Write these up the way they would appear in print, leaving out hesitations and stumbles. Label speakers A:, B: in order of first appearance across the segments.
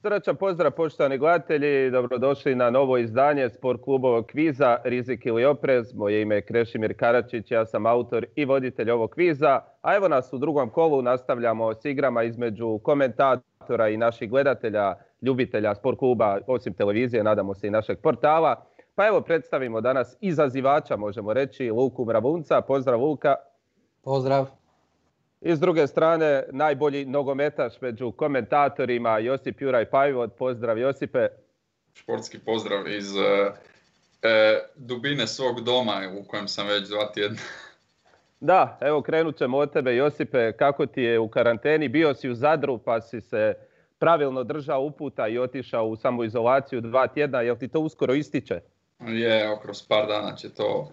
A: Srdačan pozdrav poštovani gledatelji, dobrodošli na novo izdanje Sport klubovog kviza Rizik ili oprez. Moje ime je Krešimir Karačić, ja sam autor i voditelj ovog kviza. A evo nas u drugom kolu, nastavljamo s igrama između komentatora i naših gledatelja, ljubitelja sport kluba, osim televizije, nadamo se i našeg portala. Pa evo predstavimo danas izazivača, možemo reći, Luku Mravunca. Pozdrav Luka.
B: Pozdrav.
A: I s druge strane, najbolji nogometaš među komentatorima, Josip Juraj Pajvot. Pozdrav Josipe.
C: Športski pozdrav iz dubine svog doma u kojem sam već 2 tjedna.
A: Da, evo krenut ćemo od tebe Josipe. Kako ti je u karanteni? Bio si u Zadru pa si se pravilno držao uputa i otišao u samoizolaciju 2 tjedna. Jel ti to uskoro ističe?
C: Je, kroz par dana će to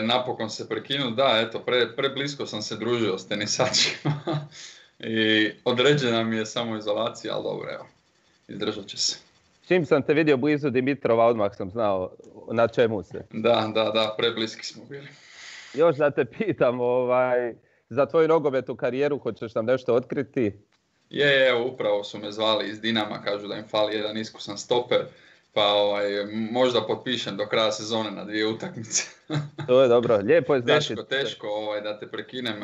C: napokon se prekinuti. Da, eto, preblisko sam se družio s tenisačima i određena mi je samoizolacija, ali dobro, evo, izdržat će se.
A: Čim sam te vidio blizu Dimitrova, odmah sam znao na čemu se.
C: Da, prebliski smo bili.
A: Još da te pitam, za tvoju nogometnu karijeru hoćeš nam nešto otkriti?
C: Evo, upravo su me zvali iz Dinama, kažu da im fali jedan iskusan stoper. Pa možda potpišem do kraja sezone na 2 utakmice.
A: To je dobro, lijepo je znači.
C: Teško da te prekinem,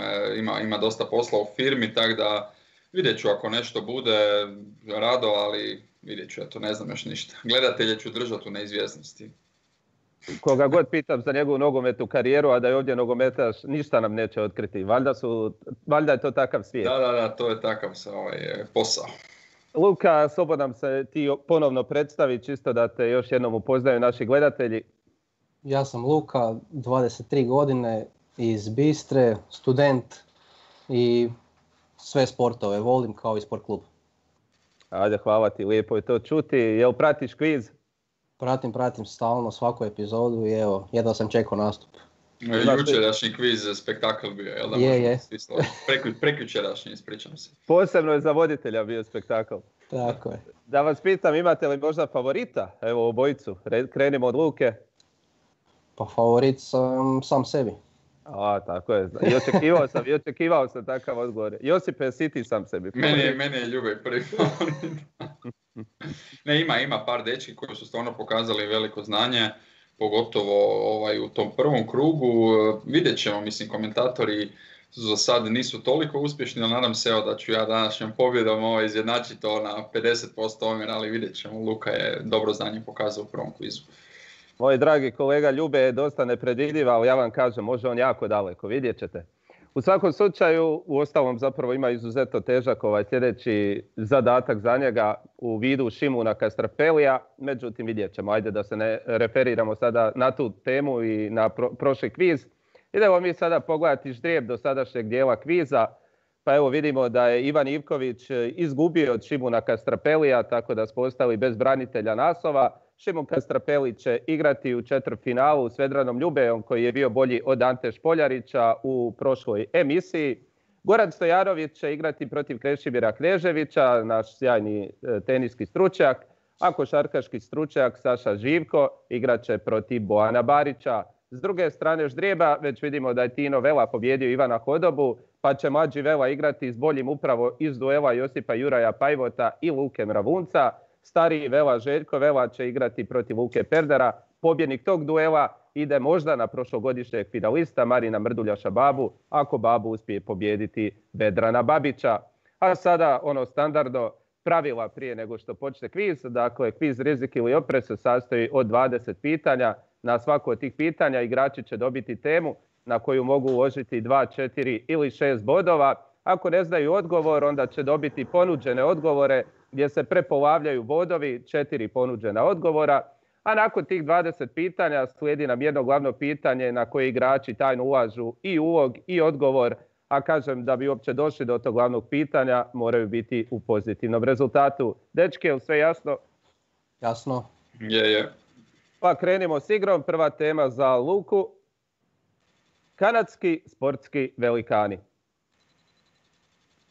C: ima dosta posla u firmi, tako da vidjet ću ako nešto bude rado, ali vidjet ću, ne znam još ništa. Gledatelje ću držati u neizvjesnosti.
A: Koga god pitam za njegovu nogometnu karijeru, a da je ovdje nogometaš, ništa nam neće otkriti. Valjda je to takav svijet.
C: Da, to je takav posao.
A: Luka, slobodno nam se ti ponovno predstavi, čisto da te još jednom upoznaju naši gledatelji.
B: Ja sam Luka, 23 godine, iz Bistre, student i sve sportove volim kao i sport klub.
A: Ajde, hvala ti, lijepo je to čuti. Jel pratiš kviz?
B: Pratim stalno svaku epizodu i evo, jedva sam čekao nastup.
C: Jučerašnji kviz spektakl bio, jel da?
B: Je.
C: Prekjučerašnji, ispričam se.
A: Posebno je za voditelja bio spektakl.
B: Tako je.
A: Da vas pitam, imate li možda favorita? Evo obojicu, krenimo od Luke.
B: Pa favorit sam sebi.
A: Tako je. I očekivao sam takav odgovor. Josipe, si ti sam sebi.
C: Meni je Ljubej prvi favorit. Ne, ima par dečki koji su stvarno pokazali veliko znanje, pogotovo u tom prvom krugu. Vidjet ćemo, komentatori za sad nisu toliko uspješni, ali nadam se da ću ja današnjom pobjedom izjednačiti to na 50% omjer, ali vidjet ćemo. Luka je dobro znanje pokazao u prvom kvizu.
A: Moj dragi kolega Ljube je dosta nepredvidljiv, ali ja vam kažem, može on jako daleko, vidjet ćete. U svakom slučaju, uostalom zapravo ima izuzetno težak sljedeći zadatak za njega u vidu Šimuna Kastrapelija, međutim vidjet ćemo, ajde da se ne referiramo sada na tu temu i na prošli kviz. Idemo mi sada pogledati ždrijeb do sadašnjeg dijela kviza, pa evo vidimo da je Ivan Ivković izgubio od Šimuna Kastrapelija, tako da smo ostali bez branitelja naslova. Šimun Kastrapeli će igrati u četvrtfinalu s Vedranom Ljubejom koji je bio bolji od Ante Špoljarića u prošloj emisiji. Goran Stojanović će igrati protiv Krešimira Kneževića, naš sjajni teniski stručnjak, a košarkaški stručnjak Saša Živko igrat će protiv Bojana Barića. S druge strane ždrijeba već vidimo da je Tino Vela pobjedio Ivana Hodobu, pa će mlađi Vela igrati s boljim upravo iz duela Josipa Juraja Pajvota i Luke Mravunca. Stariji Vela Željko Vela će igrati protiv Luke Perdera. Pobjednik tog duela ide možda na prošlogodišnjeg finalista Marina Mrduljaša Babu, ako Babu uspije pobijediti Vedrana Babića. A sada standardno pravila prije nego što počne kviz. Dakle, kviz Rizik ili oprez se sastoji od 20 pitanja. Na svako od tih pitanja igrači će dobiti temu na koju mogu uložiti 2, 4 ili 6 bodova. Ako ne znaju odgovor, onda će dobiti ponuđene odgovore gdje se prepolavljaju bodovi, 4 ponuđena odgovora. A nakon tih 20 pitanja slijedi nam jedno glavno pitanje na koje igrači tajno ulažu i ulog i odgovor. A kažem, da bi uopće došli do tog glavnog pitanja, moraju biti u pozitivnom rezultatu. Dečki, je li sve jasno?
B: Jasno.
C: Je.
A: Pa krenimo s igrom. Prva tema za Luku. Kanadski sportski velikani.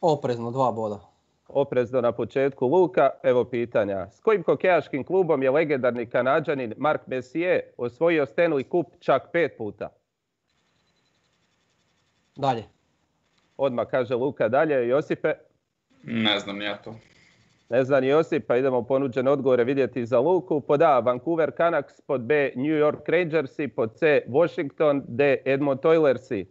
B: Oprezno 2 boda.
A: Oprezno na početku Luka. Evo pitanja. S kojim hokejaškim klubom je legendarni Kanađanin Mark Messier osvojio Stanley Cup čak 5 puta?
B: Dalje.
A: Odmah kaže Luka dalje. Josipe?
C: Ne znam ja to.
A: Ne zna ni Josip, pa idemo ponuđene odgovore vidjeti za Luku. Pod A, Vancouver Canucks, pod B, New York Rangersi, pod C, Washington, D, Edmonton Oilersi.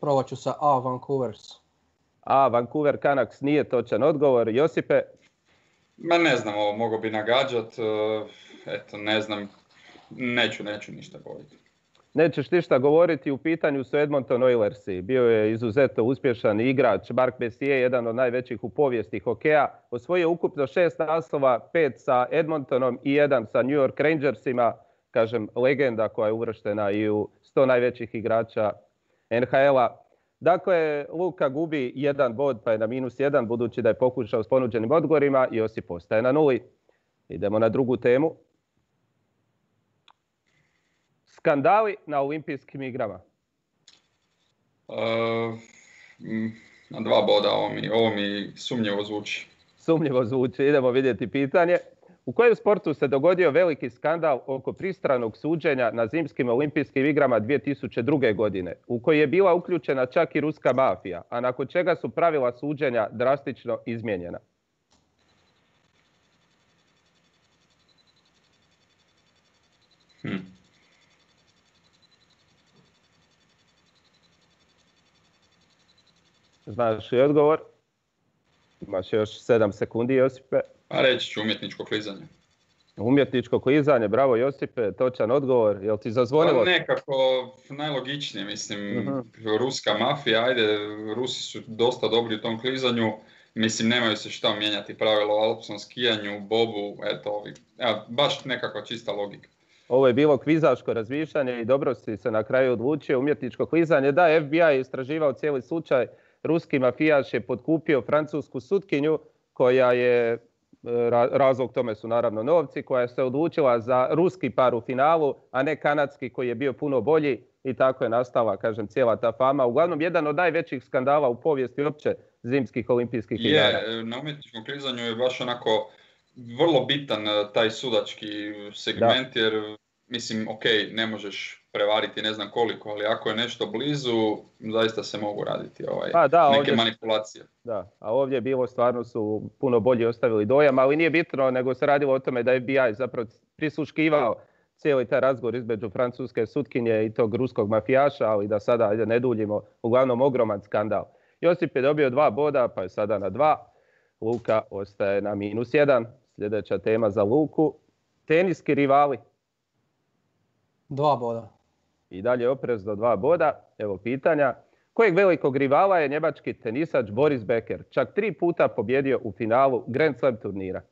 B: Provat ću sa A, Vancouvers.
A: A, Vancouver Canucks nije točan odgovor. Josipe?
C: Ma ne znam, ovo mogu bi nagađat, eto ne znam, neću ništa govoriti.
A: Nećeš ništa govoriti, u pitanju su Edmonton Oilersi. Bio je izuzetno uspješan igrač Mark Messier, jedan od najvećih u povijesti hokeja. Osvojio ukupno 6 naslova, 5 sa Edmontonom i 1 sa New York Rangersima. Kažem, legenda koja je uvrštena i u 100 najvećih igrača NHL-a. Dakle, Luka gubi 1 bod pa je na -1, budući da je pokušao s ponuđenim odgovorima. Josip ostaje na 0. Idemo na drugu temu. Skandali na olimpijskim igrama.
C: Na 2 boda, ovo mi sumnjivo zvuči.
A: Sumnjivo zvuči, idemo vidjeti pitanje. U kojem sportu se dogodio veliki skandal oko pristranog suđenja na zimskim olimpijskim igrama 2002. godine, u koji je bila uključena čak i ruska mafija, a nakon čega su pravila suđenja drastično izmijenjena? Znaš li odgovor? Imaš još 7 sekundi, Josipe.
C: A reći ću umjetničko klizanje.
A: Umjetničko klizanje, bravo Josipe, točan odgovor. Jel ti zazvonilo?
C: Pa nekako najlogičnije, mislim, ruska mafija, ajde, Rusi su dosta dobri u tom klizanju, mislim, nemaju se šta mijenjati pravilo o alpskom skijanju, bobu, eto, baš nekakva čista logika.
A: Ovo je bilo kvizaško razmišljanje i dobro si se na kraju odlučio. Umjetničko klizanje, da, FBI je istraživao cijeli slučaj. Ruski mafijaš je potkupio francusku sutkinju koja je, razlog tome su naravno novci, koja se odlučila za ruski par u finalu, a ne kanadski koji je bio puno bolji i tako je nastala, kažem, cijela ta fama. Uglavnom, jedan od najvećih skandala u povijesti uopće zimskih olimpijskih igara.
C: Na umjetničkom klizanju je baš onako vrlo bitan taj sudački segment, jer mislim, ok, ne možeš prevariti ne znam koliko, ali ako je nešto blizu, zaista se mogu raditi neke ovdje, manipulacije.
A: Da, a ovdje je bilo, stvarno su puno bolje ostavili dojam, ali nije bitno, nego se radilo o tome da je FBI zapravo prisluškivao cijeli taj razgovor između francuske sutkinje i tog ruskog mafijaša, ali da sada ne duljimo, uglavnom ogroman skandal. Josip je dobio 2 boda, pa je sada na 2. Luka ostaje na -1. Sljedeća tema za Luku. Teniski rivali.
B: 2 boda.
A: I dalje oprez do 2 boda. Evo pitanja. Kojeg velikog rivala je njemački tenisač Boris Becker čak 3 puta pobjedio u finalu Grand Slam turnira?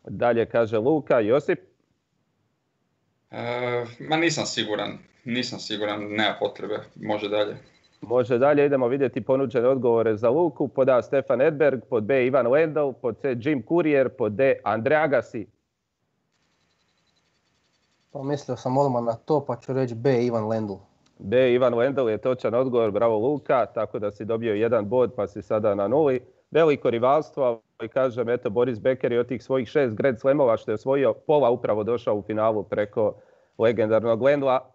A: Dalje kaže Luka. Josip?
C: Nisam siguran, nema potrebe, može dalje.
A: Može dalje, idemo vidjeti ponuđene odgovore za Luku. Pod A Stefan Edberg, pod B Ivan Lendl, pod C Jim Courier, pod D Andre Agassi.
B: Pa mislio sam odmah na to, pa ću reći B Ivan Lendl.
A: B Ivan Lendl je točan odgovor, bravo Luka, tako da si dobio 1 bod pa si sada na 0. Veliko rivalstvo, i kažem, eto, Boris Becker je od tih svojih 6 Grand Slamova što je osvojio, pola upravo došao u finalu preko legendarnog Lendla.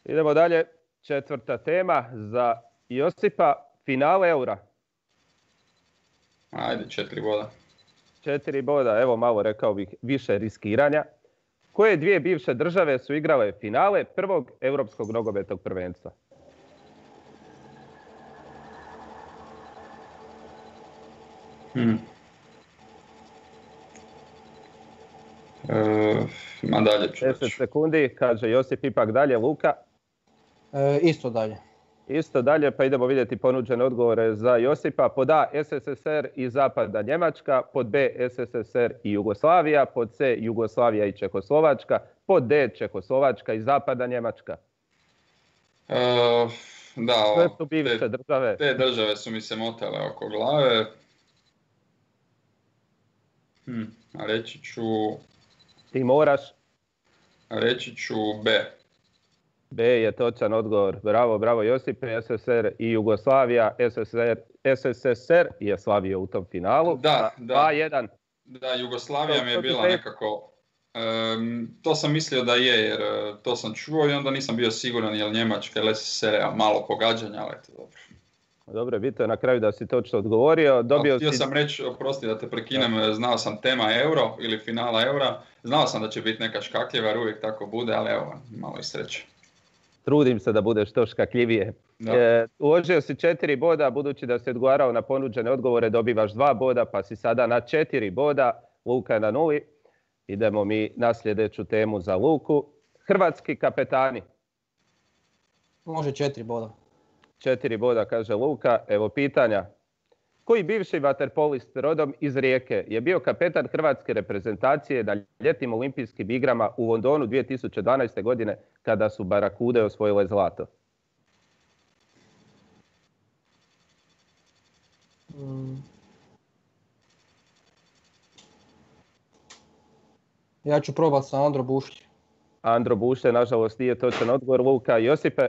A: Idemo dalje, 4. tema za Josipa, finale Eura.
C: Ajde, 4 boda.
A: 4 boda, evo malo rekao bih više riskiranja. Koje 2 bivše države su igrale finale prvog europskog nogometnog prvenstva?
C: Dalje ću
A: 10 sekundi, kaže Josip, ipak dalje. Luka?
B: Isto dalje.
A: Isto dalje, pa idemo vidjeti ponuđene odgovore za Josipa. Pod A SSSR i Zapadna Njemačka, pod B SSSR i Jugoslavija, pod C Jugoslavija i Čehoslovačka, pod D Čehoslovačka i Zapadna Njemačka.
C: Da,
A: su bivše države.
C: Te države su mi se motale oko glave.
A: Ti moraš.
C: Reći ću B.
A: B je točan odgovor. Bravo, bravo Josipe. SSR i Jugoslavija. SSSR je slavio u tom finalu.
C: Da.
A: 2-1.
C: Da, Jugoslavija mi je bila nekako... to sam mislio da je, jer to sam čuo i onda nisam bio siguran je li Njemačka ili SSR, malo pogađanja, ali eto dobro.
A: Dobro, bito je na kraju da si točno odgovorio.
C: Htio sam reći, oprosti da te prekinem, znao sam tema euro ili finala eura, znao sam da će biti neka škakljiva jer uvijek tako bude, ali evo, malo i sreće.
A: Trudim se da bude što škakljivije. Uložio si 4 boda, budući da si odgovarao na ponuđene odgovore, dobivaš 2 boda, pa si sada na 4 boda, Luka je na 0. Idemo mi na sljedeću temu za Luku. Hrvatski kapetani.
B: Može 4 boda.
A: 4 boda, kaže Luka. Evo pitanja. Koji bivši vaterpolist rodom iz Rijeke je bio kapetan hrvatske reprezentacije na ljetnim olimpijskim igrama u Londonu 2012. godine kada su Barakude osvojile zlato?
B: Ja ću probati sa Andro Bušlje.
A: Andro Bušlje, nažalost, nije točan odgovor. Luka. Josipe?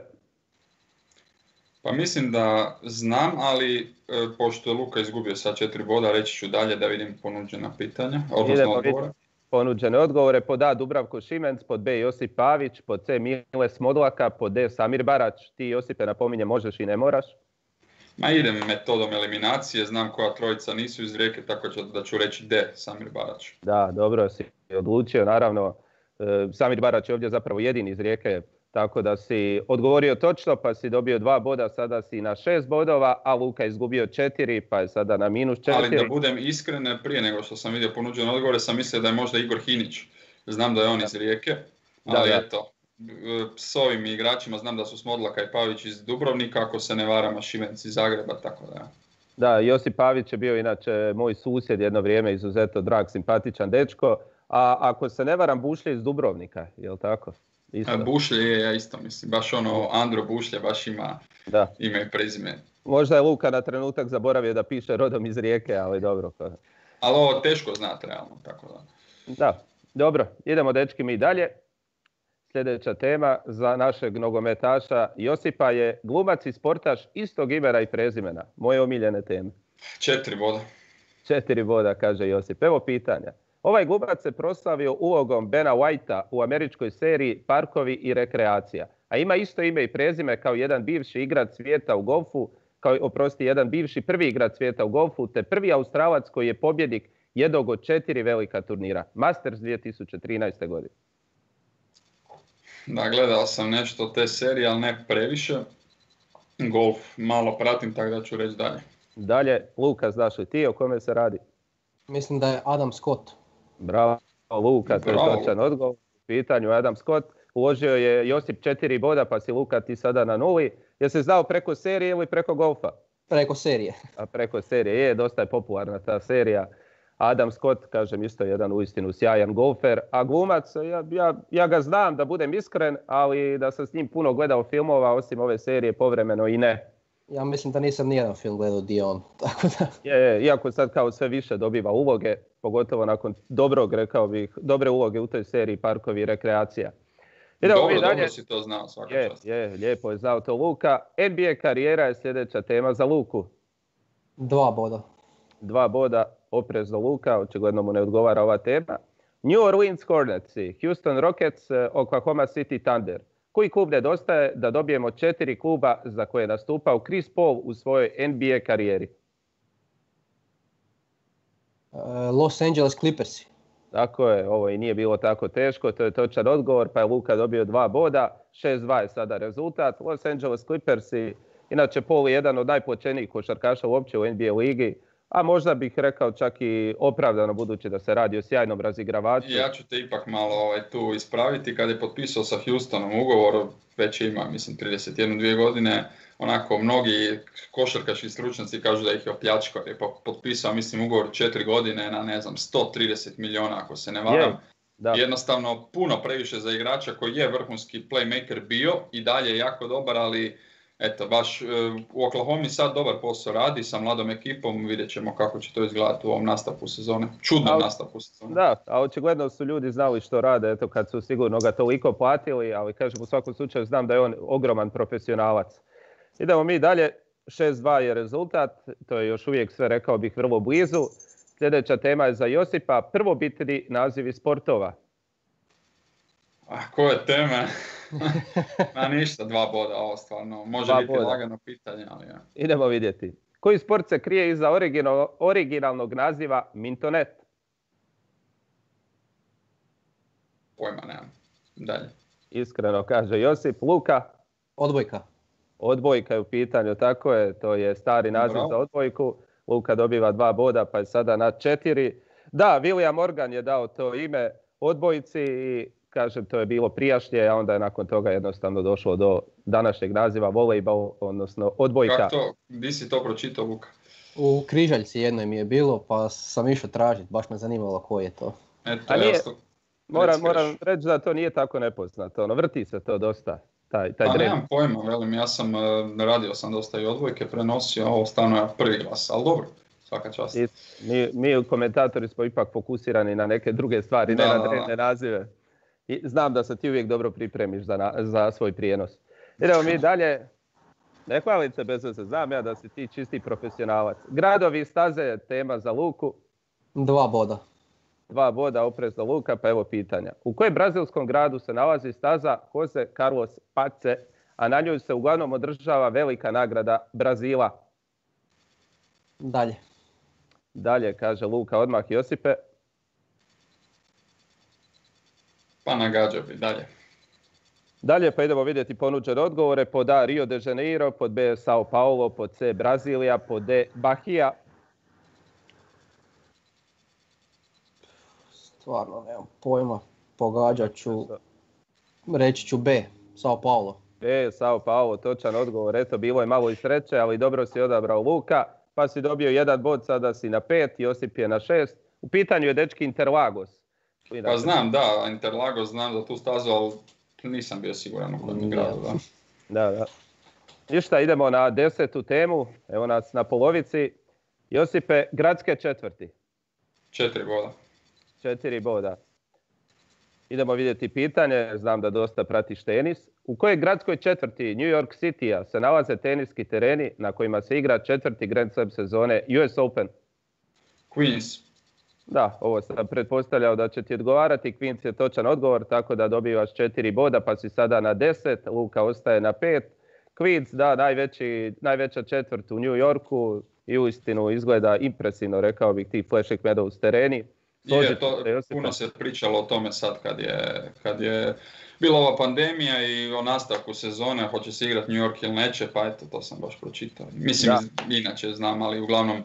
C: Pa mislim da znam, ali pošto je Luka izgubio sad 4 boda, reći ću dalje da vidim ponuđena pitanja, odnosno odgovore.
A: Ponuđene odgovore. Pod A Dubravko Šimenc, pod B Josip Pavić, pod C Mile Smodlaka, pod D Samir Barać. Ti, Josipe, napominje, možeš i ne moraš.
C: Ma idem metodom eliminacije, znam koja trojica nisu iz Rijeke, tako da ću reći D, Samir Barać.
A: Da, dobro si odlučio, naravno. Samir Barać je ovdje zapravo jedini iz Rijeke, tako da si odgovorio točno, pa si dobio 2 boda, sada si na 6 bodova, a Luka izgubio 4, pa je sada na -4.
C: Ali da budem iskren, prije nego što sam vidio ponuđene odgovore, sam mislio da je možda Igor Hinić. Znam da je on iz Rijeke, ali eto, s ovim igračima znam da su Smodlaka i Pavić iz Dubrovnika, ako se ne varam, Šimenc iz Zagreba, tako da.
A: Da, Josip Pavić je bio inače moj susjed jedno vrijeme, izuzetno drag, simpatičan dečko, a ako se ne varam, Bušlje iz Dubrovnika, je li tako?
C: Bušlje je, ja isto mislim, baš ono Andro Bušlje baš ima ime i prezime.
A: Možda je Luka na trenutak zaboravio da piše rodom iz Rijeke, ali dobro.
C: Ali ovo teško znati realno, tako da.
A: Da, dobro, idemo dečki mi dalje. Sljedeća tema za našeg nogometaša Josipa je glumac i sportaš istog imena i prezimena. Moje omiljene teme.
C: 4 boda.
A: 4 boda, kaže Josip. Evo pitanja. Ovaj glumac se proslavio ulogom Bena Whitea u američkoj seriji Parkovi i rekreacija, a ima isto ime i prezime kao jedan bivši igrač svijeta u golfu, jedan bivši prvi igrač svijeta u golfu, te prvi Australac koji je pobjednik jednog od 4 velika turnira, Masters 2013. godine.
C: Da, gledao sam nešto te serije, ali ne previše. Golf malo pratim, tako da ću reći dalje.
A: Dalje, Luka, znaš li ti o kome se radi?
B: Mislim da je Adam Scott.
A: Bravo, Luka, to je točan odgovor. U pitanju Adam Scott. Uložio je Josip 4 boda, pa si Luka ti sada na 0. Jesi znao preko serije ili preko golfa?
B: Preko serije.
A: A preko serije, dosta je popularna ta serija. Adam Scott, kažem, isto jedan uistinu sjajan golfer, a glumac, ja ga znam, da budem iskren, ali da sam s njim puno gledao filmova, osim ove serije, povremeno i ne.
B: Ja mislim da nisam nijedan film gledao di on, tako da...
A: Iako sad kao sve više dobiva uloge, pogotovo nakon dobre uloge u toj seriji Parkovi i rekreacija.
C: Dobro si to znao, svaka čast.
A: Lijepo je znao to Luka. NBA karijera je sljedeća tema za Luku.
B: 2 boda.
A: 2 boda, oprezno Luka, očigledno mu ne odgovara ova tema. New Orleans Hornets, Houston Rockets, Oklahoma City Thunder. Koji klub nedostaje da dobijemo 4 kluba za koje je nastupao Chris Paul u svojoj NBA karijeri?
B: Los Angeles Clippersi.
A: Tako je, ovo i nije bilo tako teško, to je točan odgovor, pa je Luka dobio 2 boda, 6-2 je sada rezultat. Los Angeles Clippersi, inače Paul je jedan od najplaćenijih košarkaša uopće u NBA ligi, a možda bih rekao čak i opravdano, budući da se radi o sjajnom razigravaču.
C: Ja ću te ipak malo tu ispraviti. Kad je potpisao sa Houstonom ugovor, već ima, mislim, 31-2 godine, onako mnogi košarkaški stručnjaci kažu da ih je opljačkao. Je potpisao, mislim, ugovor 4 godine na, 130 milijuna, ako se ne varam. Jednostavno, puno previše za igrača koji je vrhunski playmaker bio i dalje je jako dobar, ali eto, baš u Oklahoma sad dobar posao radi sa mladom ekipom, vidjet ćemo kako će to izgledati u ovom nastavku sezone. Čudnom nastavku sezone.
A: Da, a očigledno su ljudi znali što rade, eto kad su sigurno ga toliko platili, ali kažem u svakom slučaju znam da je on ogroman profesionalac. Idemo mi dalje, 6-2 je rezultat, to je još uvijek sve rekao bih vrlo blizu. Sljedeća tema je za Josipa, prvobitni nazivi sportova.
C: Koje teme? Ma ništa, 2 boda, ovo stvarno. Može biti lagano pitanje, ali ja.
A: Idemo vidjeti. Koji sport se krije iza originalnog naziva Mintonet?
C: Pojma nemam. Dalje.
A: Iskreno kaže Josip. Luka?
B: Odbojka.
A: Odbojka je u pitanju, tako je. To je stari naziv za odbojku. Luka dobiva 2 boda, pa je sada na 4. Da, William Morgan je dao to ime odbojci i kažem, to je bilo prijašnje, a onda je nakon toga jednostavno došlo do današnjeg naziva volejbal, odnosno odbojka.
C: Kako to? Gdje si to pročitao, Luka?
B: U Križaljci jednoj mi je bilo, pa sam išao tražiti, baš me zanimalo koji je to.
C: Eto,
A: moram reći da to nije tako nepoznato, vrti se to dosta. Taj
C: pa nemam pojma, velim, ja sam radio sam dosta i odbojke, prenosio, ovo stvarno je prvi glas, ali dobro, svaka čast.
A: Mi komentatori smo ipak fokusirani na neke druge stvari, ne na drevne nazive. I znam da se ti uvijek dobro pripremiš za svoj prijenos. Idemo mi dalje. Ne hvalim se bez veze, znam ja da si ti čisti profesionalac. Gradovi i staze je tema za Luku.
B: 2 boda.
A: 2 boda oprezno Luka, pa evo pitanja. U kojem brazilskom gradu se nalazi staza Jose Carlos Pace, a na njoj se uglavnom održava velika nagrada Brazila?
B: Dalje.
A: Dalje, kaže Luka, odmah Josipe.
C: Pa nagađao bi, dalje.
A: Dalje pa idemo vidjeti ponuđene odgovore. Pod A Rio de Janeiro, pod B Sao Paulo, pod C Brazilija, pod D Bahia.
B: Stvarno nemam pojma, pogađat ću, reći ću B, Sao Paulo.
A: B, Sao Paulo, točan odgovor. Eto, bilo je malo i sreće, ali dobro si odabrao Luka, pa si dobio 1 bod, sada si na 5, Josip je na 6. U pitanju je dečki Interlagos.
C: Pa znam, da, Interlagos znam za tu stazu, ali nisam bio siguran u kojem gradu.
A: Da. Ništa, idemo na 10. temu, evo nas na polovici. Josipe, gradske četvrti.
C: 4 boda.
A: 4 boda. Idemo vidjeti pitanje, znam da dosta pratiš tenis. U kojoj gradskoj četvrti New York City-a se nalaze teniski tereni na kojima se igra 4. Grand Slam sezone US Open?
C: Queens.
A: Da, ovo sam pretpostavljao da će ti odgovarati. Queens je točan odgovor, tako da dobivaš 4 boda, pa si sada na 10. Luka ostaje na 5. Queens, da, najveća četvrt u New Yorku i uistinu izgleda impresivno, rekao bih, ti Flashing Meadows tereni.
C: Puno se pričalo o tome sad kad je bila ova pandemija i o nastavku sezone, hoće se igrati New York ili neće, pa eto, to sam baš pročitao. Mislim, inače znam, ali uglavnom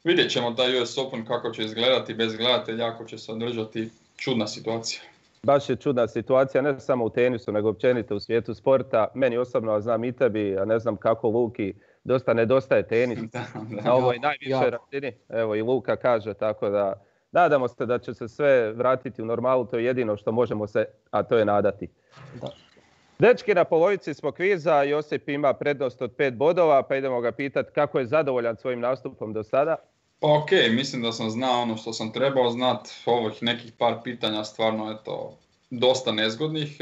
C: vidjet ćemo taj US Open kako će izgledati bez gledatelja, ako će se održati. Čudna situacija. Baš je čudna situacija, ne samo u tenisu, nego općenito u svijetu sporta. Meni osobno, a znam i tebi, a ne znam kako Luki, dosta nedostaje tenis. Na ovoj najvišoj razini. Evo i Luka kaže, tako da nadamo se da će se sve vratiti u normalu, to je jedino što možemo se, a to je nadati. Da. Dečki, na polovici smo kviza, Josip ima prednost od 5 bodova, pa idemo ga pitati kako je zadovoljan svojim nastupom do sada. Pa ok, mislim da sam znao ono što sam trebao znat, ovih nekih par pitanja stvarno eto, dosta nezgodnih.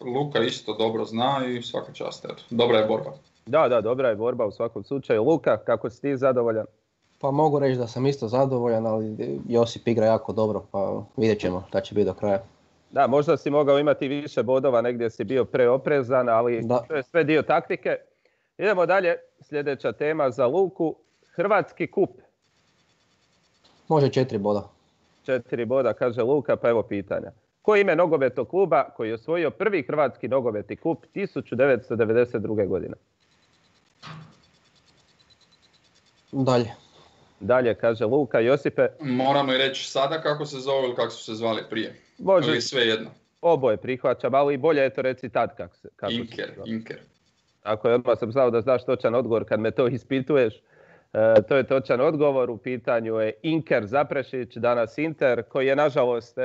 C: Luka isto dobro zna i svaka čast, eto, dobra je borba. Da, dobra je borba u svakom slučaju. Luka, kako si ti zadovoljan?
B: Pa mogu reći da sam isto zadovoljan, ali Josip igra jako dobro, pa vidjet ćemo da će biti do kraja.
A: Da, možda si mogao imati više bodova, negdje si bio preoprezan, ali to je sve dio taktike. Idemo dalje, sljedeća tema za Luku, Hrvatski kup.
B: Može 4 boda.
A: 4 boda, kaže Luka, pa evo pitanja. Koje ime nogometnog kluba koji je osvojio prvi hrvatski nogometni kup 1992. godine? Dalje, kaže Luka. Josipe?
C: Moramo i reći sada kako se zove ili kako su se zvali prije.
A: Može.
C: Ili sve jedno.
A: Oboje prihvaćam, ali bolje je to reći tad kako
C: Inker.
A: Tako je, odmah sam znao da znaš točan odgovor kad me to ispituješ. To je točan odgovor, u pitanju je Inker Zaprešić, danas Inter, koji je nažalost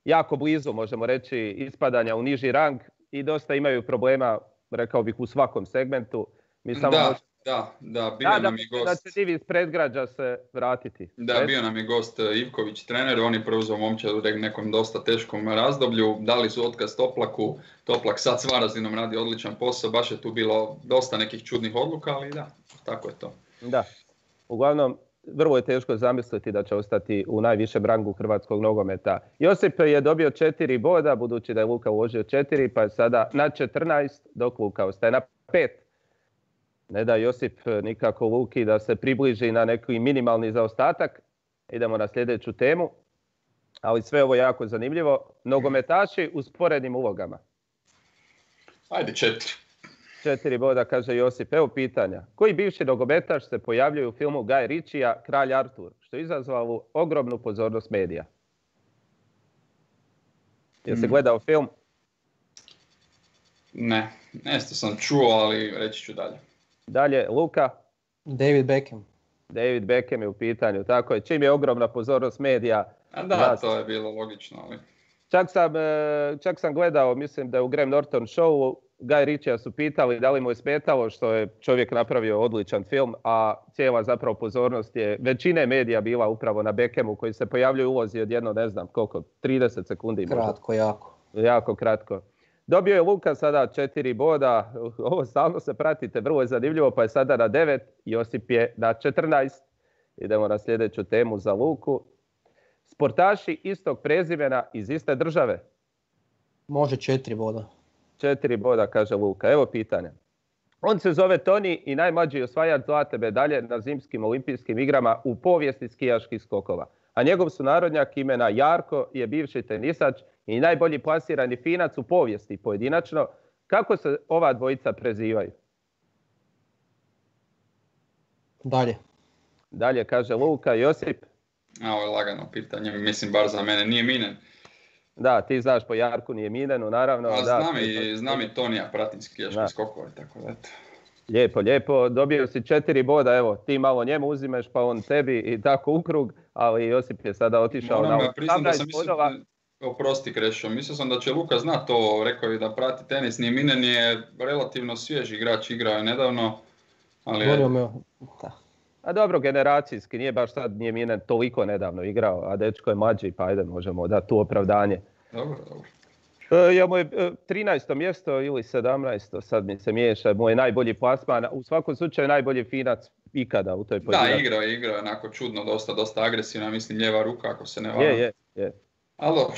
A: jako blizu, možemo reći, ispadanja u niži rang i dosta imaju problema, rekao bih, u svakom segmentu. Mi samo
C: bio nam je gost.
A: Da će divi iz predgrađa se vratiti.
C: Da, bio nam je gost Ivković, trener, on je preuzeo momčad u nekom dosta teškom razdoblju, dali su otkaz Toplaku, Toplak sad s Varaždinom radi odličan posao, baš je tu bilo dosta nekih čudnih odluka, ali da, tako je to.
A: Da, uglavnom, vrlo je teško zamisliti da će ostati u najvišem rangu hrvatskog nogometa. Josip je dobio 4 boda, budući da je Luka uložio 4, pa je sada na 14, dok Luka ostaje na 5. Ne da Josip nikako Luki da se približi na neki minimalni zaostatak. Idemo na sljedeću temu, ali sve ovo je jako zanimljivo. Nogometaši u sporednim ulogama.
C: Ajde 4.
A: 4 boda, kaže Josip. Evo pitanja. Koji bivši nogometaš se pojavljuje u filmu Guy Ritchija Kralj Artur, što je izazvalo ogromnu pozornost medija? Jesi gledao film?
C: Ne, nešto sam čuo, ali reći ću dalje.
A: Dalje, Luka?
B: David Beckham.
A: David Beckham je u pitanju, tako je. Čim je ogromna pozornost medija.
C: Da, to je bilo logično. Ali...
A: Čak sam gledao, mislim da je u Graham Norton showu, Guy Ritchija su pitali da li mu je smetalo što je čovjek napravio odličan film, a cijela zapravo pozornost je većine medija bila upravo na Beckhamu, koji se pojavljuje u ulozi od jedno, ne znam koliko, 30 sekundi.
B: Kratko, jako.
A: Jako kratko. Dobio je Luka sada 4 boda, ovo stalno se pratite, vrlo je zanimljivo, pa je sada na 9, Josip je na 14. Idemo na sljedeću temu za Luku. Sportaši istog prezimena iz iste države.
B: Može 4 boda.
A: 4 boda, kaže Luka. Evo pitanja. On se zove Toni i najmlađi osvajač zlatne medalje na zimskim olimpijskim igrama u povijesti skijaških skokova. A njegov sunarodnjak imena Jarko je bivši tenisač i najbolji plasirani Finac u povijesti pojedinačno. Kako se ova dvojica prezivaju? Dalje, kaže Luka. Josip?
C: Ovo je lagano pitanje, mislim bar za mene, nije Minen.
A: Da, ti znaš po Jarku, nije Minenu, naravno.
C: Znam i Tonija, pratim skijaški skokove, tako da eto.
A: Lijepo. Dobio si 4 boda, evo, ti malo njemu uzimeš, pa on tebi i tako u krug, ali Josip je sada otišao na 18 bodova.
C: Oprosti Krešo, mislio sam da će Luka znati to, rekao je da prati tenis, nije Minen je relativno svjež igrač, igrao je nedavno, ali...
A: A dobro, generacijski, nije baš sad, nije Minen toliko nedavno igrao, a dečko je mlađi, pa ajde, možemo dati tu opravdanje.
C: Dobro.
A: Ja mu je 13. mjesto ili 17. sad mi se miješa, moj najbolji plasman, u svakom slučaju najbolji Finac ikada u toj pojedinačnosti.
C: Da, igrao je onako čudno, dosta agresivna, mislim lijeva ruka ako se ne varam.
A: Je.
C: Ali dobro.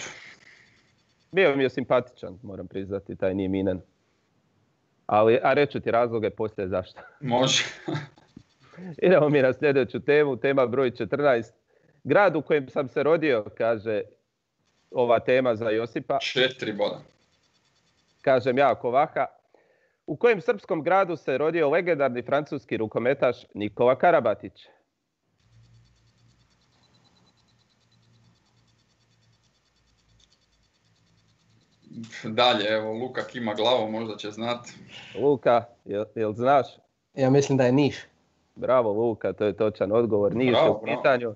A: Bio mi je simpatičan, moram priznati, taj nije Minen. A reću ti razloge poslije zašto.
C: Može.
A: Idemo mi na sljedeću temu, tema broj 14. Grad u kojem sam se rodio, kaže ova tema za Josipa.
C: 4 boda.
A: Kažem ja, Kovaha. U kojem srpskom gradu se rodio legendarni francuski rukometaš Nikola Karabatić?
C: Dalje, evo, Luka kima glavom, možda će znati.
A: Luka, jel znaš?
B: Ja mislim da je Niš.
A: Bravo Luka, to je točan odgovor. Niš je u pitanju.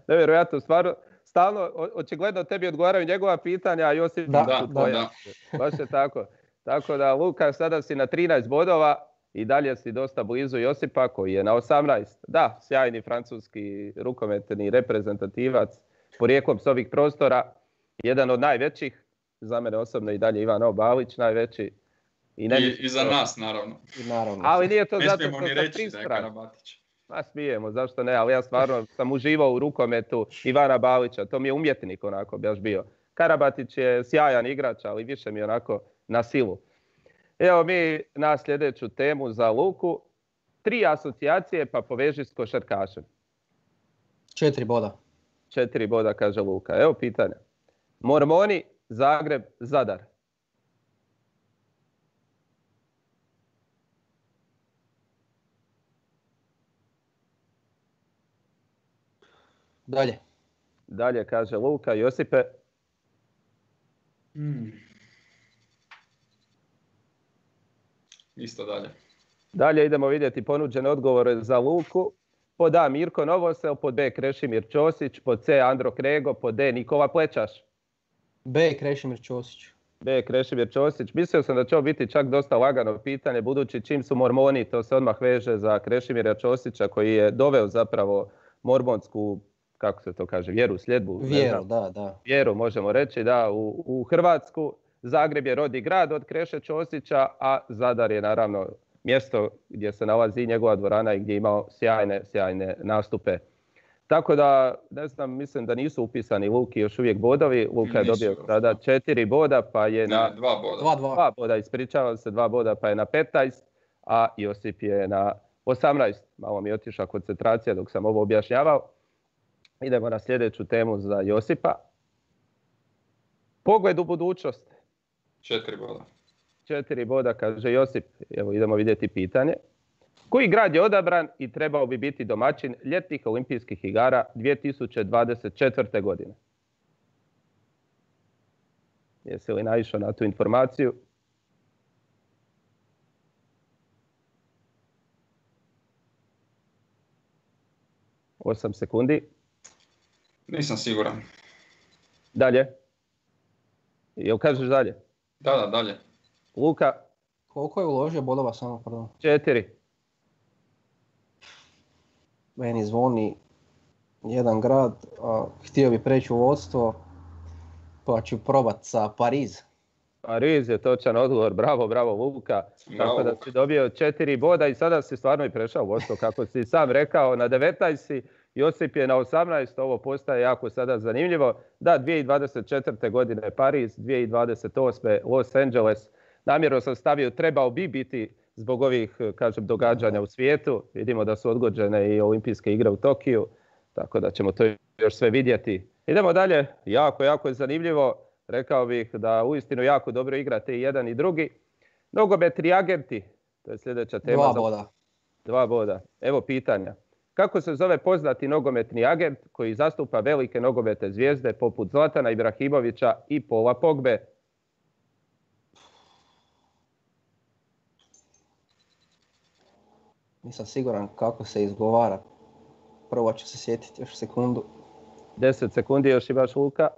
A: Nevjerojatno, stvarno, stalno, očigledno tebi odgovaraju njegova pitanja, a Josip su tvoja. Da. Baš je tako. Tako da Luka, sada si na 13 bodova i dalje si dosta blizu Josipa koji je na 18. Da, sjajni francuski rukometni reprezentativac, porijeklom s ovih prostora, jedan od najvećih, za mene osobno i dalje Ivan Balić najveći.
C: I za nas, naravno.
A: Ali nije to zato
C: što sam prispran.
A: Smijemo, zašto ne, ali ja stvarno sam uživao u rukometu Ivana Balića, to mi je umjetnik onako baš bio. Karabatić je sjajan igrač, ali više mi onako na silu. Evo mi na sljedeću temu za Luku. 3 asocijacije pa poveži s košarkašem.
B: 4 boda.
A: 4 boda, kaže Luka. Evo pitanja. Mormoni, Zagreb, Zadar. Dalje, kaže Luka. Josipe?
C: Isto dalje.
A: Dalje idemo vidjeti ponuđene odgovore za Luku. Pod A Mirko Novosel, pod B Krešimir Ćosić, pod C Andro Krego, pod D Nikola Plečaš.
B: B Krešimir Ćosić.
A: B. Krešimir Ćosić. Mislio sam da će ovo biti čak dosta lagano pitanje, budući čim su mormoni, to se odmah veže za Krešimira Ćosića koji je doveo zapravo mormonsku, kako se to kaže, vjeru, sljedbu.
B: Vjeru, da.
A: Vjeru, možemo reći, da, u Hrvatsku. Zagreb je rodni grad od Kreše Ćosića, a Zadar je naravno mjesto gdje se nalazi njegova dvorana i gdje je imao sjajne nastupe. Tako da, ne znam, mislim da nisu upisani Luki još uvijek bodovi. Luka je dobio sada 4 boda, pa je na
C: 2 boda.
B: 2
A: boda, ispričavam se, 2 boda, pa je na 15, a Josip je na 18. Malo mi je otišla koncentracija dok sam ovo objašnjavao. Idemo na sljedeću temu za Josipa. Pogled u budućnost.
C: 4 boda.
A: 4 boda, kaže Josip. Evo, idemo vidjeti pitanje. Koji grad je odabran i trebao bi biti domaćin ljetnih olimpijskih igara 2024. godine? Jesi li naišao na tu informaciju? Osam sekundi.
C: Nisam siguran.
A: Dalje. Jel kažeš dalje?
C: Da, dalje.
A: Luka?
B: Koliko je uložio bodova samo, pardon?
A: 4.
B: Meni zvoni jedan grad, a htio bi preći u vodstvo, pa ću probat sa Pariz.
A: Pariz je točan odgovor, bravo Luka. Tako da si dobio 4 boda i sada si stvarno i prešao u vodstvo, kako si sam rekao, na 19 si, Josip je na 18, ovo postaje jako sada zanimljivo. Da, 2024. godine Pariz, 2028. Los Angeles. Namjerno sam stavio, trebao bi biti zbog ovih, kažem, događanja u svijetu. Vidimo da su odgođene i olimpijske igre u Tokiju, tako da ćemo to još sve vidjeti. Idemo dalje, jako je zanimljivo. Rekao bih da uistinu jako dobro igrate i jedan i drugi. Nogometni agenti, to je sljedeća tema.
B: 2 boda.
A: 2 boda. Evo pitanja. Kako se zove poznati nogometni agent koji zastupa velike nogometne zvijezde poput Zlatana Ibrahimovića i Paula Pogbe?
B: Nisam siguran kako se izgovara. Prvo ću se sjetiti još sekundu.
A: 10 sekundi još imaš, Luka.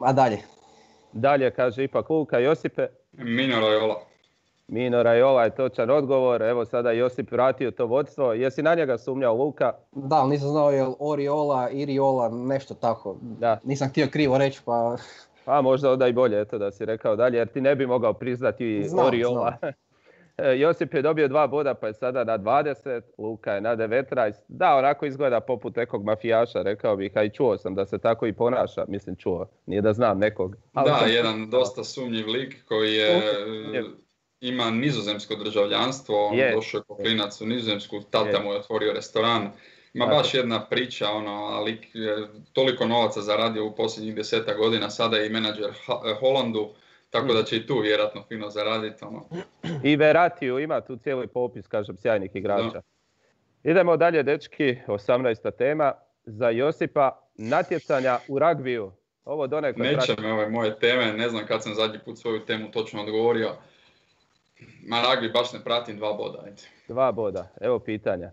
B: A dalje.
A: Dalje, kaže ipak Luka. Josipe?
C: Mino Raiola.
A: Mino Raiola je točan odgovor. Evo sada Josip vratio to vodstvo. Jesi na njega sumnjao, Luka?
B: Da, ali nisam znao je li Oriola, Iriola, nešto tako.
A: Da.
B: Nisam htio krivo reći, pa...
A: Pa možda onda i bolje, eto da si rekao dalje, jer ti ne bi mogao priznati Oriola. Josip je dobio 2 boda, pa je sada na 20, Luka je na 19. Da, onako izgleda poput nekog mafijaša, rekao bih, a i čuo sam da se tako i ponaša. Mislim, čuo, nije da znam nekog.
C: Da, jedan dosta sumnjiv lik koji ima nizozemsko državljanstvo, došao je ko klinac u Nizozemsku, tata mu je otvorio restoran. Ima baš jedna priča, ali toliko novaca zaradio u posljednjih 10 godina, sada je i menadžer Holandu. Tako da će i tu vjerojatno fino zaraditi.
A: I Veratiju ima tu cijeli popis, kažem, sjajnih igrača. Da. Idemo dalje, dečki, 18. tema. Za Josipa, natjecanja u ragbiju. Ovo donekle...
C: Neće me ove moje teme, ne znam kad sam zadnji put svoju temu točno odgovorio. Ma ragbi baš ne pratim, 2 boda. Ajde.
A: 2 boda, evo pitanja.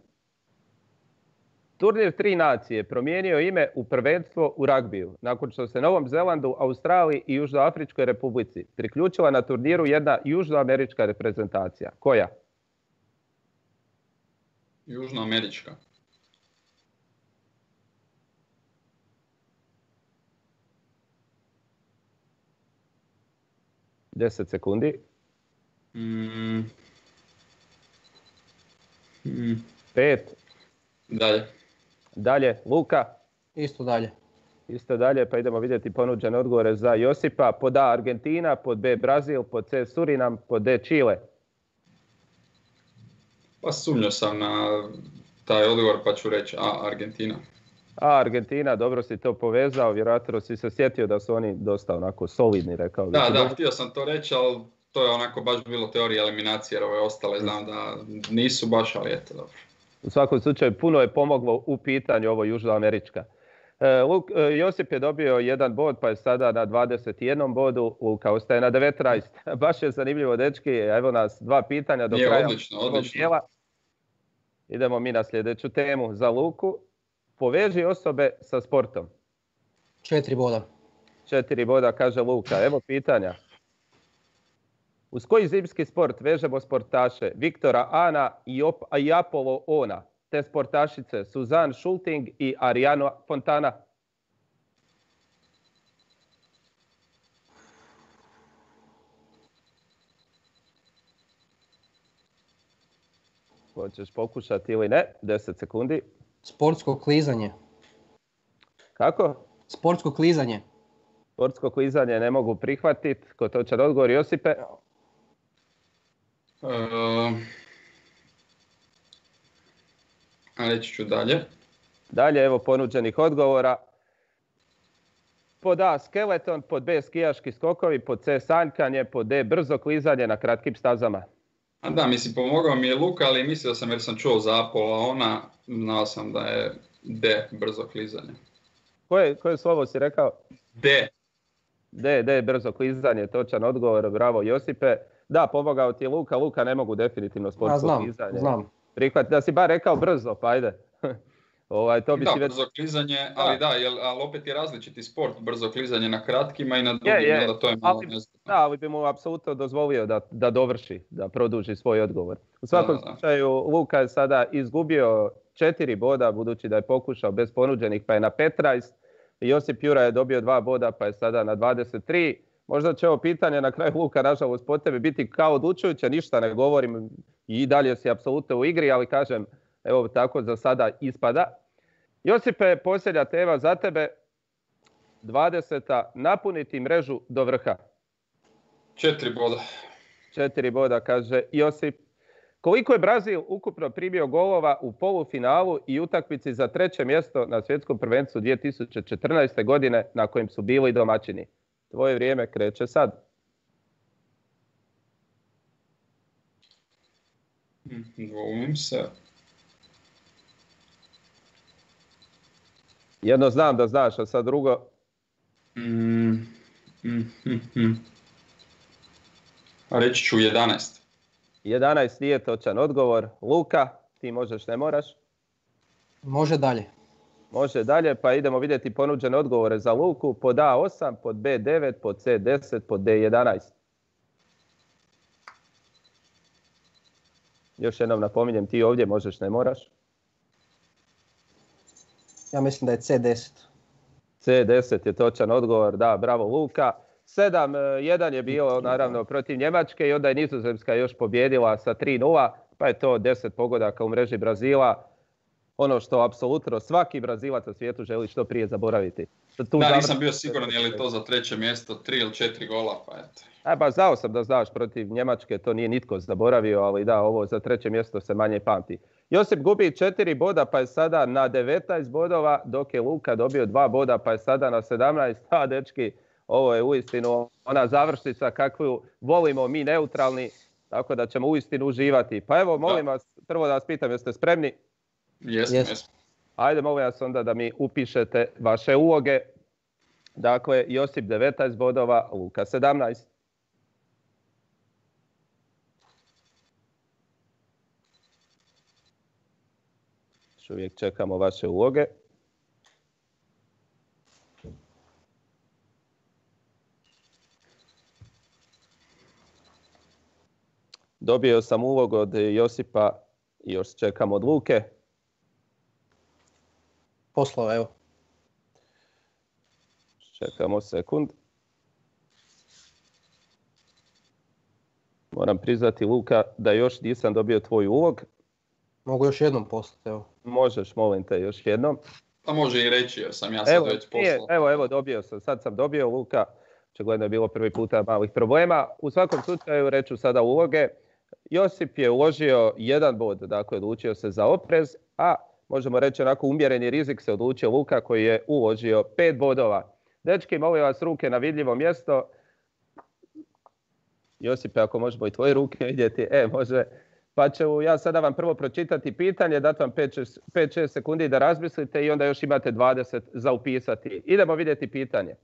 A: Turnir 3 nacije promijenio ime u prvenstvo u ragbiju, nakon što se Novom Zelandu, Australiji i Južnoafričkoj Republici priključila na turniru jedna južnoamerička reprezentacija. Koja?
C: Južnoamerička.
A: Deset sekundi. 5. Dalje, Luka?
B: Isto dalje.
A: Isto dalje, pa idemo vidjeti ponuđene odgovore za Josipa. Pod A Argentina, pod B Brazil, pod C Surinam, pod D Čile.
C: Pa sumnjao sam na taj odgovor pa ću reći A Argentina.
A: A Argentina, dobro si to povezao, vjerojatno si se sjetio da su oni dosta onako solidni, rekao bih.
C: Da, htio sam to reći, ali to je onako baš bilo teorija eliminacije, jer ove ostale znam da nisu baš, ali eto dobro.
A: U svakom slučaju puno je pomoglo u pitanju ovo južnoamerička. Josip je dobio 1 bod, pa je sada na 21 bodu, Luka ostaje na 19. Baš je zanimljivo, dečki, evo nas 2 pitanja do kraja.
C: Odlično.
A: Idemo mi na sljedeću temu za Luku. Poveži osobe sa sportom.
B: 4 boda.
A: 4 boda, kaže Luka. Evo pitanja. Uz koji zimski sport vežemo sportaše Viktora Ana i Apollo Ona, te sportašice Suzanne Schulting i Ariana Fontana? Hoćeš pokušati ili ne? 10 sekundi.
B: Sportsko klizanje.
A: Kako?
B: Sportsko klizanje.
A: Sportsko klizanje ne mogu prihvatiti. Ko točan odgovor, Josipe?
C: Reći ću dalje.
A: Dalje, evo ponuđenih odgovora. Pod A skeleton, pod B skijaški skokovi, pod C sanjkanje, pod D brzo klizanje na kratkim stazama.
C: A da, mislim, pomogao mi je Luka, ali mislio sam jer sam čuo za Apollo Ona, znao sam da je D, brzo klizanje.
A: Koje slovo si rekao?
C: D.
A: D, brzo klizanje, točan odgovor, bravo Josipe. Da, pomogao ti je Luka, Luka ne mogu definitivno sportsko klizanje.
B: Znam.
A: Prihvati, da si bar rekao brzo, pa ajde. To bi
C: da,
A: si već...
C: brzo klizanje, ali ali opet je različiti sport, brzo klizanje na kratkima i na dugim, onda to je malo nezgodno.
A: Da, ali bi mu apsolutno dozvolio da dovrši, da produži svoj odgovor. U svakom slučaju, Luka je sada izgubio 4 boda, budući da je pokušao bez ponuđenih, pa je na 15. Josip Jura je dobio 2 boda, pa je sada na 23. Možda će ovo pitanje na kraju, Luka, nažalost po tebi biti kao odlučujuće, ništa ne govorim i dalje si apsolutno u igri, ali kažem, evo tako za sada ispada. Josipe, posljednja tema za tebe, 20. napuniti mrežu do vrha.
C: 4 boda.
A: 4 boda, kaže Josip. Koliko je Brazil ukupno primio golova u polufinalu i utakmici za 3. mjesto na svjetskom prvenstvu 2014. godine na kojem su bili domaćini? Tvoje vrijeme kreće sad.
C: Dvoumim se.
A: Jedno znam da znaš, a sad drugo...
C: Reći ću 11.
A: 11 nije točan odgovor. Luka, ti možeš, ne moraš?
B: Može dalje.
A: Može dalje, pa idemo vidjeti ponuđene odgovore za Luku. Pod A 8, pod B 9, pod C 10, pod D 11. Još jednom napominjem, ti ovdje možeš, ne moraš?
B: Ja mislim da je C10.
A: C10 je točan odgovor, da, bravo Luka. 7-1 je bilo naravno protiv Njemačke i onda je Nizozemska još pobjedila sa 3-0, pa je to 10 pogodaka u mreži Brazila. Ono što apsolutno svaki Brazilac na svijetu želi što prije zaboraviti.
C: Nisam bio siguran je li to za 3. mjesto 3 ili 4 gola, pa eto.
A: Znao sam da znaš, protiv Njemačke to nije nitko zaboravio, ali da, ovo za 3. mjesto se manje pamti. Josip gubi 4 boda pa je sada na 19 bodova, dok je Luka dobio 2 boda pa je sada na 17. Dečki, ovo je uistinu ona završnica kakvu volimo mi neutralni, tako da ćemo uistinu uživati. Pa evo, molim vas, prvo da vas pitam, jeste spremni?
C: Jesmo.
A: Ajde, molim vas onda da mi upišete vaše uloge. Dakle, Josip 19 bodova, Luka 17. Još uvijek čekamo vaše uloge. Dobio sam ulog od Josipa i još čekam od Luke.
B: Poslao, evo.
A: Čekamo sekund. Moram priznati, Luka, da još nisam dobio tvoj ulog.
B: Mogu još jednom poslati, evo.
A: Možeš, molim te, još jednom.
C: Pa može i reći, jer sam ja sad već poslao.
A: Evo, dobio sam. Sad sam dobio, Luka. Očigledno je bilo prvi puta malih problema. U svakom slučaju reću sada uloge. Josip je uložio 1 bod, dakle odlučio se za oprez, a možemo reći onako umjereni rizik se odlučio Luka koji je uložio 5 bodova. Dečki, molim vas ruke na vidljivo mjesto. Josipe, ako možemo i tvoje ruke vidjeti, može. Pa ću ja sada vam prvo pročitati pitanje, dati vam 5-6 sekundi da razmislite i onda još imate 20 za upisati. Idemo vidjeti pitanje.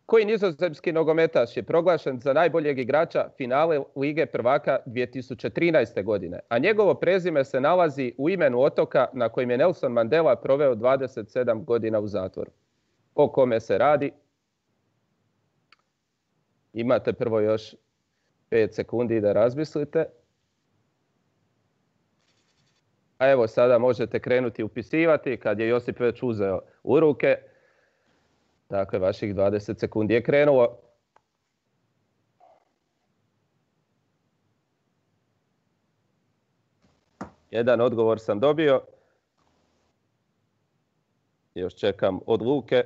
A: Koji nizozemski nogometaš je proglašen za najboljeg igrača finale Lige prvaka 2013. godine, a njegovo prezime se nalazi u imenu otoka na kojem je Nelson Mandela proveo 27 godina u zatvoru? O kome se radi? Imate prvo još 5 sekundi da razmislite. A evo sada možete krenuti upisivati kad je Josip već uzeo u ruke. Dakle, vaših 20 sekundi je krenulo. Jedan odgovor sam dobio. Još čekam od Luke.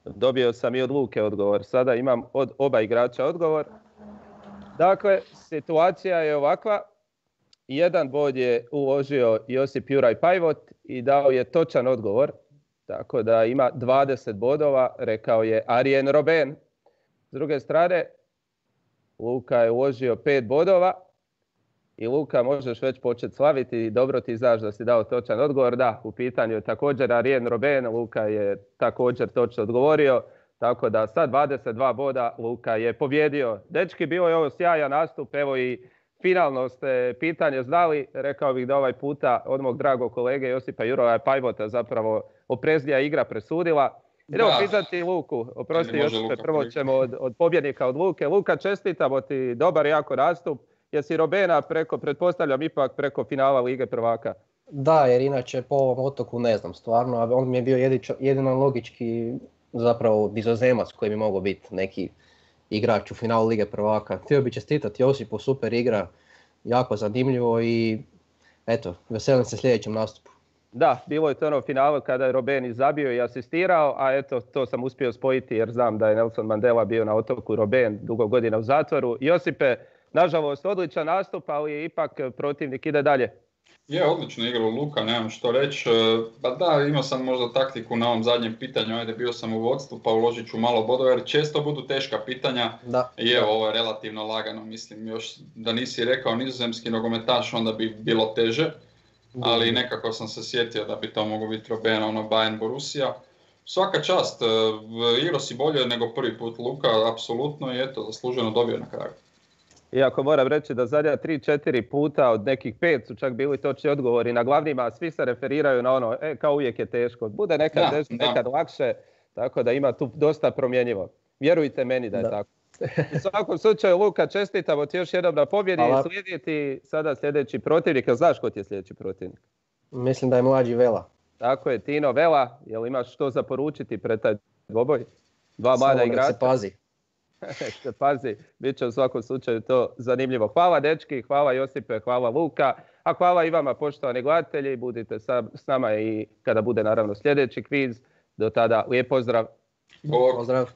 A: Dobio sam i od Luke odgovor. Sada imam od oba igrača odgovor. Dakle, situacija je ovakva. Jedan bod je uložio Josip Juraj Pajvot i dao je točan odgovor. Tako da ima 20 bodova, rekao je Arjen Robben. S druge strane, Luka je uložio 5 bodova. I Luka, možeš već početi slaviti i dobro ti znaš da si dao točan odgovor. Da, u pitanju je također Arjen Robben, Luka je također točno odgovorio. Tako da sa 22 boda Luka je pobjedio. Dečki, bilo je ovo sjajan nastup, evo i finalno ste pitanje znali. Rekao bih da ovaj puta od mog dragog kolege Josipa Juraja Pajvota zapravo opreznija igra presudila. Idemo pitati Luku, oprosti Josipe, prvo ćemo od pobjednika od Luke. Luka, čestitamo ti, dobar jako nastup. Jesi Robbena pretpostavljam ipak preko finala Lige prvaka?
B: Da, jer inače po ovom otoku ne znam stvarno, a on mi je bio jedino logički zapravo Nizozemac koji bi mogao biti neki igrač u finalu Lige prvaka. Htio bi čestitati Josipu, super igra, jako zanimljivo i eto, veselim se sljedećem nastupu.
A: Da, bilo je to ono finalu kada je Robben i zabio i asistirao, a eto, to sam uspio spojiti jer znam da je Nelson Mandela bio na otoku, Robben dugo godina u zatvoru. Josipe, nažalost, odličan nastup, ali ipak protivnik ide dalje.
C: Je, odlično igrao Luka, nemam što reći. Pa da, imao sam možda taktiku na ovom zadnjem pitanju, ajde bio sam u vodstvu pa uložit ću malo bodova jer često budu teška pitanja.
B: Da.
C: I evo, ovo je relativno lagano, mislim, još da nisi rekao nizozemski nogometaš onda bi bilo teže. Ali nekako sam se sjetio da bi to moglo biti Robben, Bayern Borussia. Svaka čast, igrao si bolje nego prvi put Luka, apsolutno, i eto, zasluženo dobio na kraju.
A: Iako moram reći da zadnja 3-4 puta od nekih 5 su čak bili točni odgovori na glavnima, svi se referiraju na ono, kao uvijek je teško. Bude nekad teško, nekad lakše, tako da ima tu dosta promjenjivo. Vjerujte meni da je tako. U svakom slučaju, Luka, čestitamo ti još jednom na pobjedi. Slijedi ti sada sljedeći protivnik. Znaš ko ti je sljedeći protivnik?
B: Mislim da je mlađi Vela.
A: Tako je, Tino Vela. Jel imaš što za poručiti pred taj dvoboj? Dva mlada igrača.
B: Se pazi.
A: Se pazi, bit će u svakom slučaju to zanimljivo. Hvala dečki, hvala Josipe, hvala Luka, a hvala i vama poštovani gledatelji. Budite s nama i kada bude naravno sljedeći kviz. Do tada, lijep pozdrav.
B: Pozdrav.